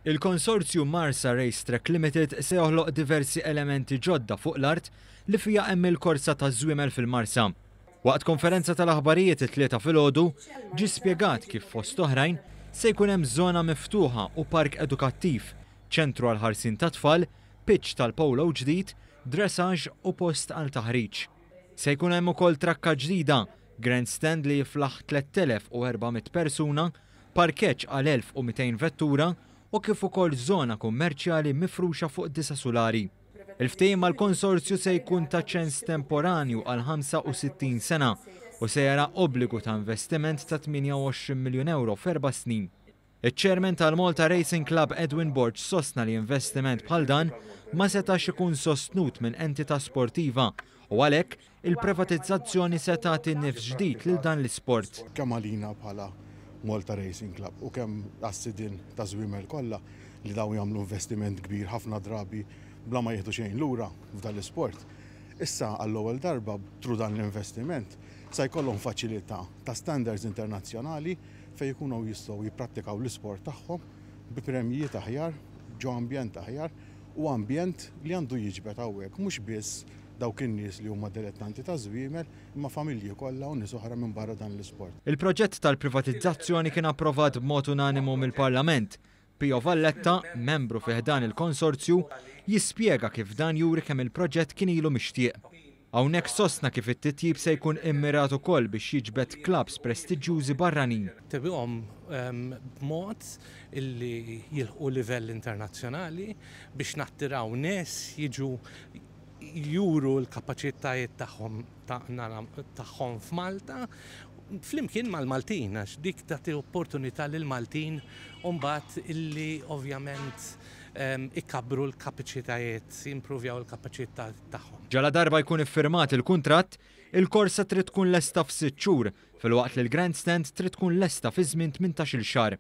Il-konsorzju Marsa Racetrack Limited se joħloq diversi elementi ġodda fuq l-art li fiha hemm il-korsa taż-żwiemel fil-Marsa. Waqt konferenza tal-aħbarijiet it-Tlieta filgħodu, ġie spjegat kif fost oħrajn se jkun hemm żona miftuħa u park edukattiv, ċentru għall-ħarsien tat-tfal, pitch tal-polo ġdid, dressage u post għal taħriġ. Se jkun hemm ukoll trakka ġdida, grandstand li jiflaħ 3,400 persuna, parkeġġ għal 1,200 vettura u kif ukoll żona kummerċjali mifruxa fuq disa' sulari. Il-ftehim mal-konsorzju se jkun ta' ċens temporanju għal 65 sena u se jara obbligu ta' investiment ta' 28 miljun ewro f'erba' snin. Iċ-Chairman tal-Malta Racing Club Edwin Borg sostna li investiment bħal dan ma setax ikun sostnut minn entità sportiva u għalhekk il-privatizzazzjoni se tagħti nifs ġdid lil dan l-isport. Kemm għalina bħala Malta Racing Club u kemm għas-sidien ta' żwiemel kollha li dawn jagħmlu investiment kbir ħafna drabi bla ma jieħdu xejn lura f'dan l-isport. Issa għall-ewwel darba through dan l-investiment sa jkollhom faċilità ta' standards internazzjonali fejn ikunu jistgħu jipprattikaw l-isport tagħhom bi premjijiet aħjar, ġo ambjent aħjar u ambjent li għandu jiġbed hawnhekk mhux biss dawk in-nies li huma dilettanti ta' żwiemel imma familji kollha u nies oħra minn barra dan l-isport. Il-proġett tal-privatizzazzjoni kien approvat b'mod unanimu mill-Parlament. Pio Valletta, membru fi ħdan il-konsorzju, jispjega kif dan juri kemm il-proġett kien ilu mixtieq. Hawnhekk sostna kif it-titjib se jkun immirat ukoll biex jiġbed klabbs prestiġjużi barranin. Tebihom b'mod illi jilħqu livell internazzjonali biex nattiraw nies jiġu juru l-kapaċitajiet tagħhom tagħhom f'Malta flimkien mal-Maltin għax dik tagħti opportunità lill-Maltin u mbagħad illi ovvjament ikabbru l-kapaċitajiet, jimpruvjaw il-kapaċità tagħhom. Ġaladarba jkun iffirmat il-kuntratt, il-korsa trid tkun lesta f'sitt xhur, filwaqt li l-grandstand trid tkun lesta fi żmien 18-il xahar.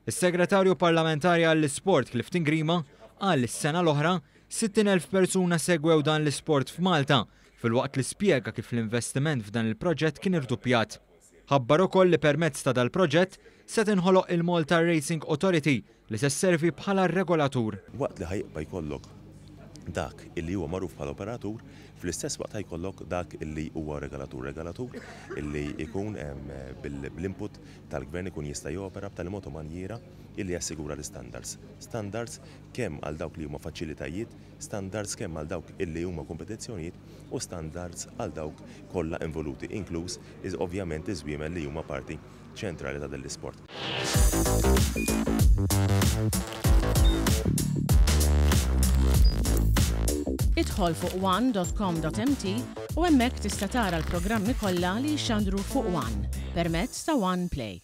Is-Segretarju Parlamentari għall-Isport Clifton Grima qal li s-sena l-oħra 60,000 persuna segwew dan l-isport f'Malta filwaqt li spjega kif l-investiment f'dan il-proġett kien irduppjat. Ħabbar ukoll li permezz ta' dal-proġett se tinħoloq il-Malta Racing Authority li se sservi bħala regolatur. Waqt li ħa jibqa' jkollok dak illi huwa magħruf bħala operatur, fl-istess waqt ħa jkollok dak illi huwa regolatur. Regolatur illi jkun bl-input tal-gvern ikun jista' jopera b'tali mod u manjiera illi jassigura l-istandards. Standards kemm għal dawk li huma faċilitajiet, standards kemm għal dawk illi huma kompetizzjonijiet u standards għal dawk kollha involuti, inkluż ovvjament iż-żwiemel li huma parti ċentrali ta' din l-isport. Idħol fuq one.com.mt u hemmhekk tista' tara l-programmi kollha li jixxandru fuq One permezz ta' One Play.